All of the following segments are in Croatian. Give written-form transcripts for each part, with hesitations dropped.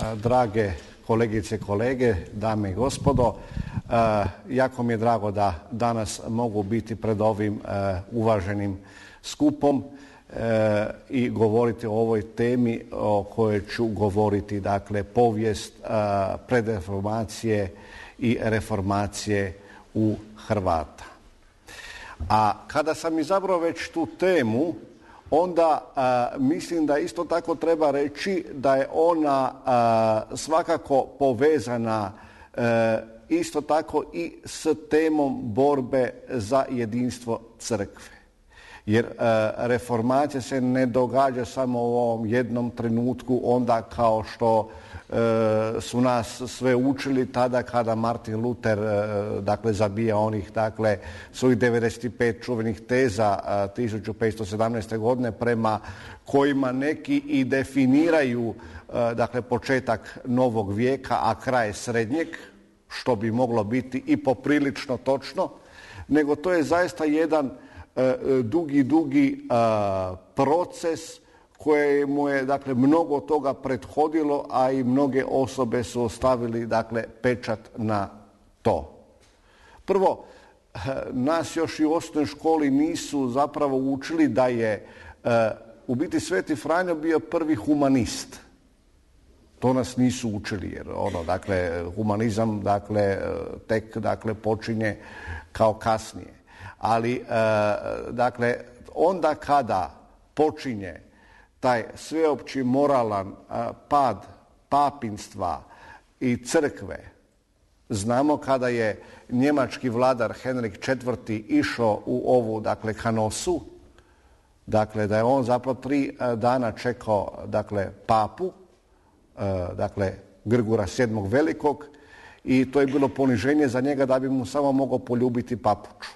Drage kolegice i kolege, dame i gospodo, jako mi je drago da danas mogu biti pred ovim uvaženim skupom i govoriti o ovoj temi o kojoj ću govoriti, dakle, povijest predreformacije i reformacije u Hrvata. A kada sam izabrao već tu temu, onda mislim da isto tako treba reći da je ona svakako povezana isto tako i s temom borbe za jedinstvo crkve. Jer reformacija se ne događa samo u ovom jednom trenutku, onda kao što su nas sve učili tada kada Martin Luther zabija onih svojih 95 čuvenih teza 1517. godine prema kojima neki i definiraju početak novog vijeka, a kraj srednjeg, što bi moglo biti i poprilično točno, nego to je zaista jedan dugi proces kojemu je mnogo toga prethodilo, a i mnoge osobe su ostavili pečat na to. Prvo, nas još i u osnovnoj školi nisu zapravo učili da je u biti Sveti Franjo bio prvi humanist. To nas nisu učili jer humanizam tek počinje kao kasnije. Ali onda kada počinje taj sveopći moralan pad papinstva i crkve, znamo kada je njemački vladar Henrik IV. Išao u ovu Kanosu, da je on zapravo 3 dana čekao papu, Grgura VII. Velikog, i to je bilo poniženje za njega da bi mu samo mogao poljubiti papuču.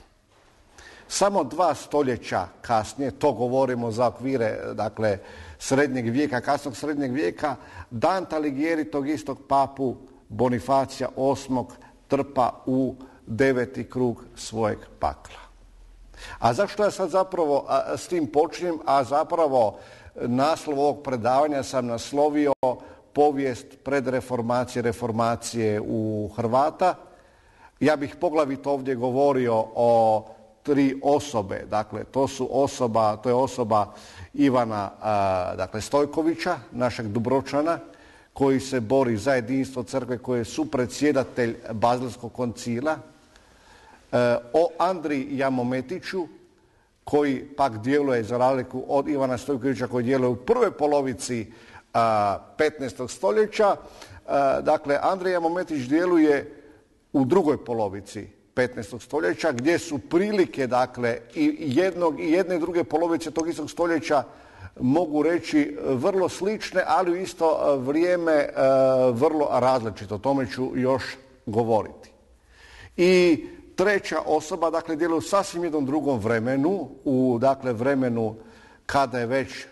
Samo 2 stoljeća kasnije, to govorimo za okvire srednjeg vijeka, kasnog srednjeg vijeka, Dante Alighieri tog istog papu Bonifacija VIII. Trpa u 9. krug svojeg pakla. A zašto ja sad zapravo s tim počinjem? A zapravo naslov ovog predavanja sam naslovio povijest predreformacije, reformacije u Hrvata. Ja bih poglavito ovdje govorio o 3 osobe. To je osoba Ivana Stojkovića, našeg Dubrovčana, koji se bori za jedinstvo crkve, koji je supredsjedatelj Bazelskog koncila, o Andriji Jamometiću, koji pak djeluje za razliku od Ivana Stojkovića, koji djeluje u prvoj polovici 15. stoljeća. Andrija Jamometić djeluje u drugoj polovici 15. stoljeća, gdje su prilike i jedne i druge polovice tog istog stoljeća, mogu reći, vrlo slične, ali u isto vrijeme vrlo različito. O tome ću još govoriti. I treća osoba, djeluje u sasvim jednom drugom vremenu, u vremenu kada je već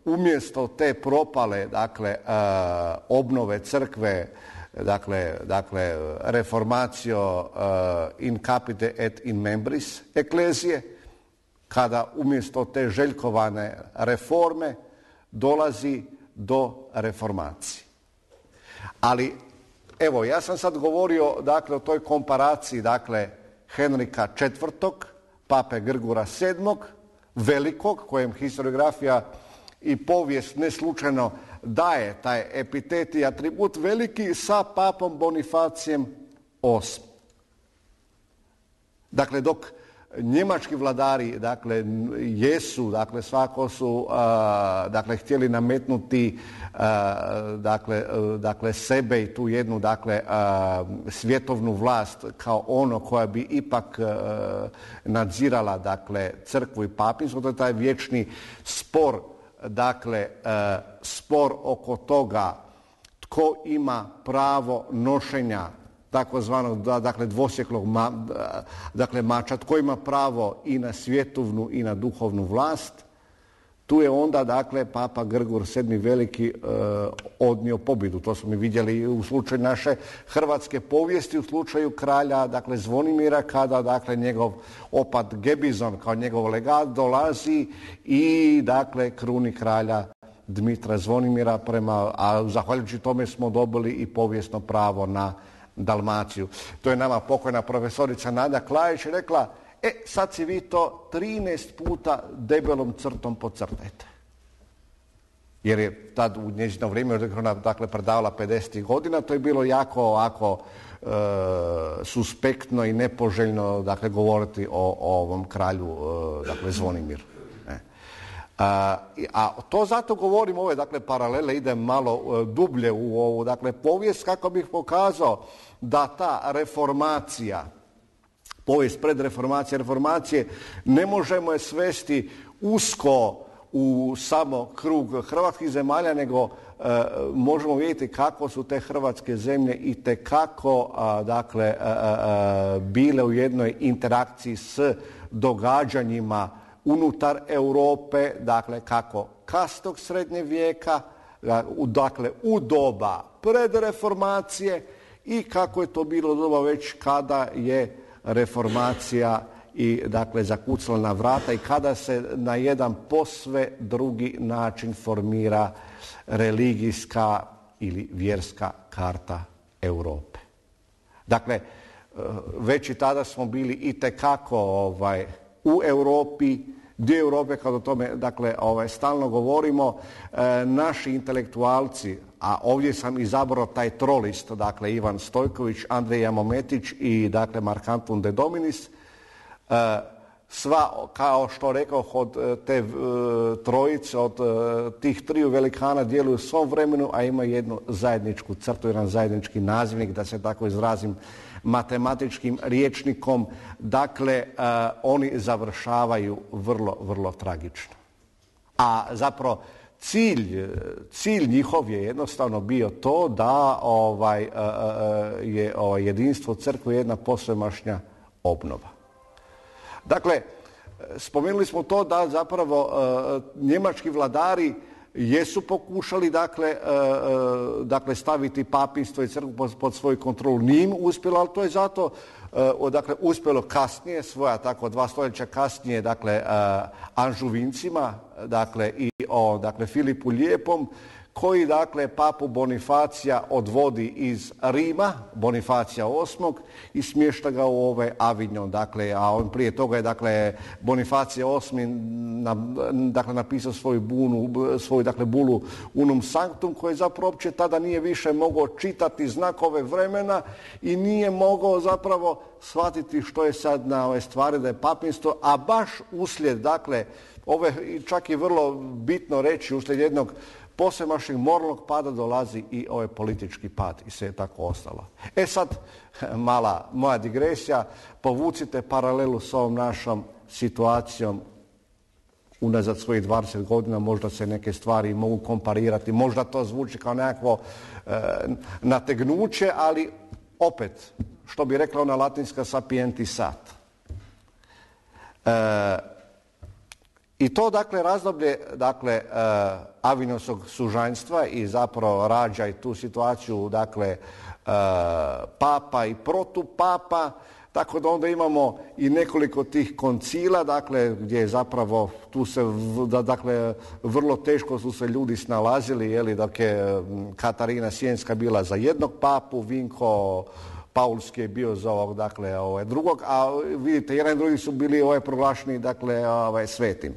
umjesto te propale obnove crkve, reformacio in capite et in membris eklezije, kada umjesto te željkovane reforme dolazi do reformacije. Ali evo, ja sam sad govorio o toj komparaciji Henrika IV, pape Grgura VII, Velikog, kojem historiografija i povijest ne slučajno daje taj epitet i atribut veliki, sa papom Bonifacijem VIII. Dok njemački vladari jesu, svako su htjeli nametnuti sebe i tu jednu svjetovnu vlast kao ono koja bi ipak nadzirala crkvu i papinstvo. To je taj vječni spor, spor oko toga tko ima pravo nošenja takozvanog dvosjeklog mača, tko ima pravo i na svjetovnu i na duhovnu vlast. Tu je onda papa Grgur VII. Veliki odnio pobjedu. To smo mi vidjeli u slučaju naše hrvatske povijesti, u slučaju kralja Zvonimira, kada njegov opat Gebizon kao njegov legat dolazi i kruni kralja Dmitra Zvonimira, a zahvaljujući tome smo dobili i povijesno pravo na Dalmaciju. To je nama pokojna profesorica Nada Klajić rekla, sad si vi to 13 puta debelom crtom podcrtajte. Jer je tad u njezino vrijeme, dakle, predavala 50. godina, to je bilo jako ovako suspektno i nepoželjno, dakle, govoriti o ovom kralju, dakle, Zvonimiru. A to zato govorim ove, dakle, paralele, idem malo dublje u ovu, dakle, povijest kako bih pokazao da ta reformacija, povijest predreformacije, ne možemo je svesti usko u samo krug hrvatskih zemalja, nego možemo vidjeti kako su te hrvatske zemlje itekako dakle, bile u jednoj interakciji s događanjima unutar Europe, dakle kako kasnog srednje vijeka, dakle u doba predreformacije i kako je to bilo doba već kada je reformacija i dakle zakucala na vrata i kada se na jedan posve drugi način formira religijska ili vjerska karta Europe. Dakle, već i tada smo bili itekako u Europi, dio Europe, kad o tome dakle, stalno govorimo, naši intelektualci, a ovdje sam izabrao taj trolist, dakle Ivan Stojković, Andrej Jamometić i dakle Mark Antun de Dominis, sva, kao što rekao, od te trojice, od tih triju velikana djeluju u svom vremenu, a ima jednu zajedničku crtu, jedan zajednički nazivnik, da se tako izrazim matematičkim rječnikom. Dakle, oni završavaju vrlo, vrlo tragično. A zapravo cilj njihov je jednostavno bio to da je jedinstvo crkve jedna posvemašnja obnova. Dakle, spomenuli smo to da zapravo njemački vladari jesu pokušali dakle staviti papinstvo i crkvu pod svoju kontrolu. Nije im uspjelo, ali to je zato dakle, uspjelo kasnije, svoja tako 2 stoljeća kasnije, dakle Anžuvincima, dakle i dakle Filipu Lijepom, koji dakle papu Bonifacija odvodi iz Rima, Bonifacija VIII, i smješta ga u Avignon. Dakle, a on prije toga je dakle Bonifacija VIII dakle napisao svoju dakle bulu Unum Sanctum, koji zapravo uopće tada nije više mogao čitati znakove vremena i nije mogao zapravo shvatiti što je sad na ove stvari da je papinstvo, a baš uslijed dakle čak i vrlo bitno reći, uslijed jednog posvemašnjeg moralnog pada dolazi i ovaj politički pad i sve je tako ostalo. Sad, mala moja digresija, povucite paralelu s ovom našom situacijom unazad svojih 20 godina, možda se neke stvari mogu komparirati, možda to zvuči kao nekakvo nategnuće, ali opet, što bi rekla ona latinska sapientis sat. I to dakle razdoblje dakle Avinonskog sužanjstva i zapravo rađa i tu situaciju dakle papa i protupapa, tako da onda imamo i nekoliko tih koncila, dakle gdje je zapravo tu se dakle vrlo teško su se ljudi snalazili, je li, dok je Katarina Sienska bila za jednog papu, Vinko Paulski je bio za ovog, dakle drugog, a vidite, jedan i drugi su bili proglašeni dakle svetim.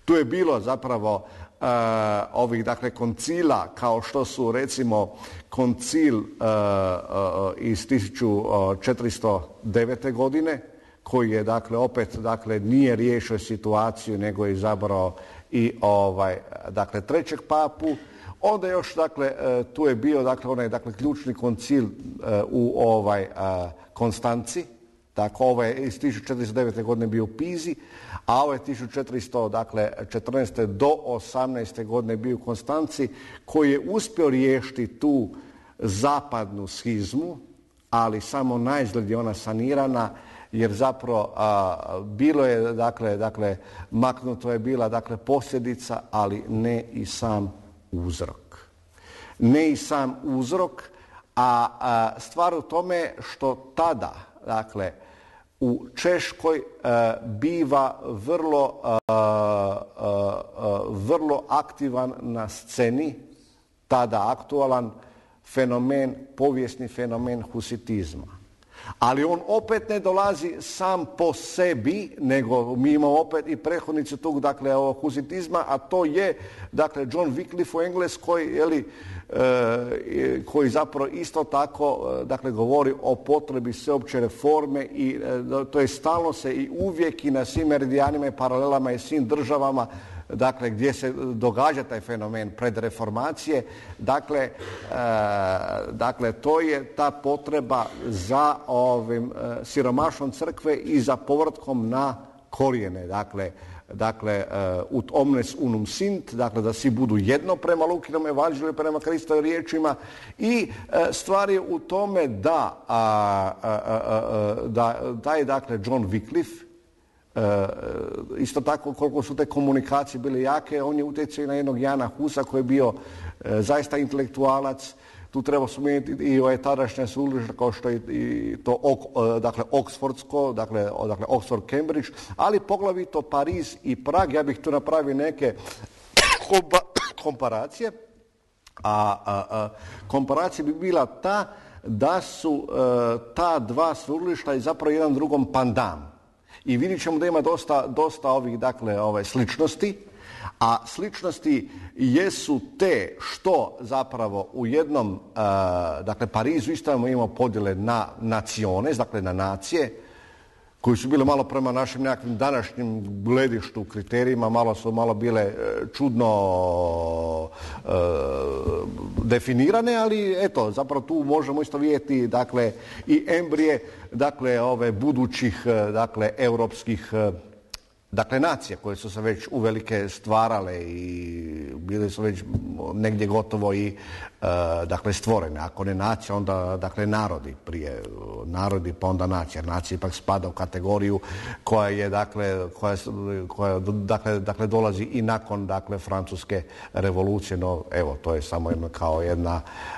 Tu je bilo zapravo ovih dakle koncila kao što su recimo koncil iz 1409. godine koji je dakle opet dakle nije riješio situaciju nego je izabrao i dakle trećeg papu. Onda još dakle tu je bio dakle onaj dakle ključni koncil u Konstanci. Dakle, ovo je iz 1409. godine bio u Pizi, a ovo je 1414. do 18. godine bio u Konstanci, koji je uspio riješiti tu zapadnu schizmu, ali samo naizgled je ona sanirana, jer zapravo bilo je, dakle, maknuto je bila dakle posljedica, ali ne i sam uzrok. Ne i sam uzrok, a stvar u tome što tada, dakle, u Češkoj biva vrlo aktivan na sceni, tada aktualan fenomen, povijesni fenomen husitizma. Ali on opet ne dolazi sam po sebi, nego mi imamo opet i prethodnici tog, dakle, husitizma, a to je, dakle, John Wycliffe u Engleskoj, koji zapravo isto tako, dakle, govori o potrebi sveopće reforme i to je stalno se i uvijek i na svim meridijanima i paralelama i svim državama, dakle, gdje se događa taj fenomen predreformacije. Dakle, to je ta potreba za siromašnom crkve i za povratkom na korijene. Dakle, ut omnes unum sint, dakle, da svi budu jedno prema Lukinom evanđelju, prema Kristovim riječima. I stvar je u tome da je, dakle, John Wycliffe, isto tako koliko su te komunikacije bile jake, on je utjecao na jednog Jana Husa koji je bio zaista intelektualac. Tu treba spomenuti i tadašnje sveučilište kao što je i to, dakle, Oxfordsko, dakle Oxford, Cambridge, ali poglavito Pariz i Prag. Ja bih tu napravio neke komparacije. Komparacija bi bila ta da su ta dva sveučilišta i zapravo jedan drugom pandan. I vidjet ćemo da ima dosta ovih, dakle, sličnosti, a sličnosti jesu te što zapravo u jednom, dakle, Parizu isto imamo podjele na naciones, dakle, na nacije, koji su bile malo prema našim nekakvim današnjim gledištu, kriterijima, malo bile čudno definirane, ali eto, zapravo tu možemo isto vidjeti, dakle, i embrije, dakle, budućih, dakle, europskih, dakle, nacije koje su se već uvelike stvarale i bile su već negdje gotovo i, dakle, stvorene. Ako ne nacija, onda, dakle, narodi prije. Narodi pa onda nacija. Nacija ipak spada u kategoriju koja je, dakle, dakle, dolazi i nakon, dakle, Francuske revolucije. No, evo, to je samo kao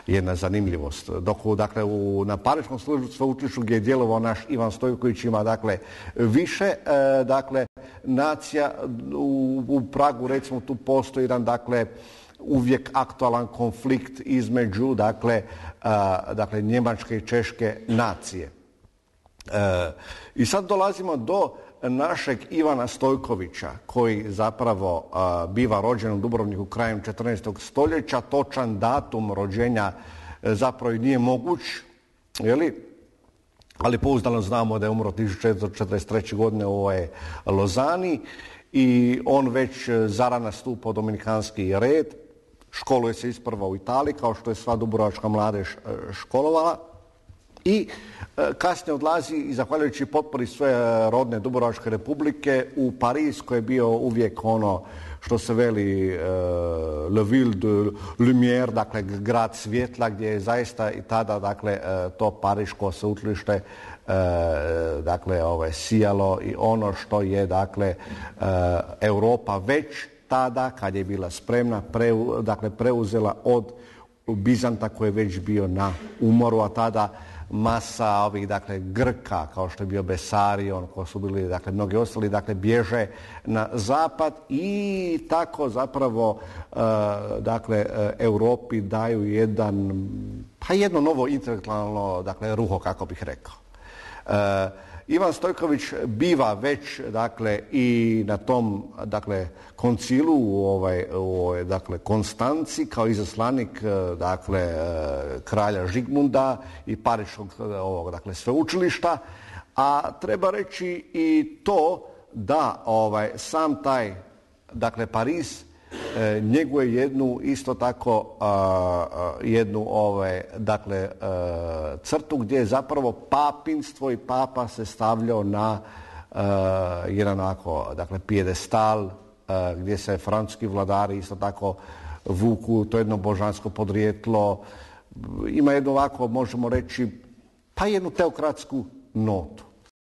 jedna zanimljivost. Dok, dakle, na Pariškom sveučilištu gdje je djelovao naš Ivan Stojković ima, dakle, više, dakle, nacija. U Pragu, recimo, tu postoji jedan, dakle, uvijek aktualan konflikt između, dakle, njemačke i češke nacije. I sad dolazimo do našeg Ivana Stojkovića, koji zapravo biva rođen u Dubrovniku krajem 14. stoljeća. Točan datum rođenja zapravo i nije moguć, ali pouzdano znamo da je umro 1443. godine u Lozani i on već zarana stupa u dominikanski red. Školuje se isprva u Italiji, kao što je sva dubrovačka mladež školovala. I kasnije odlazi i zahvaljujući potpori svoje rodne Dubrovačke republike u Pariz, koji je bio uvijek ono što se veli le ville de lumière, dakle grad svjetla, gdje je zaista i tada, dakle, to pariško sveučilište, dakle, sijalo i ono što je, dakle, Europa već tada, kad je bila spremna, dakle, preuzela od Bizanta koji je već bio na umoru, a tada masa ovih, dakle, Grka, kao što je bio Besarion, ko su bili, dakle, mnogi ostali, dakle, bježe na zapad i tako zapravo, dakle, Europi daju jedno novo intelektualno, dakle, ruho, kako bih rekao. Ivan Stojković biva već, dakle, i na tom, dakle, koncilu u dakle, Konstanci kao izaslanik, dakle, kralja Žigmunda i Pariškog, dakle, sveučilišta, a treba reći i to da sam taj, dakle, Pariz njeguje jednu isto tako jednu dakle, crtu gdje je zapravo papinstvo i papa se stavljao na jedan onako, dakle, pijedestal gdje se francuski vladari isto tako vuku, to jedno božansko podrijetlo, ima jednu ovako, možemo reći, pa jednu teokratsku notu.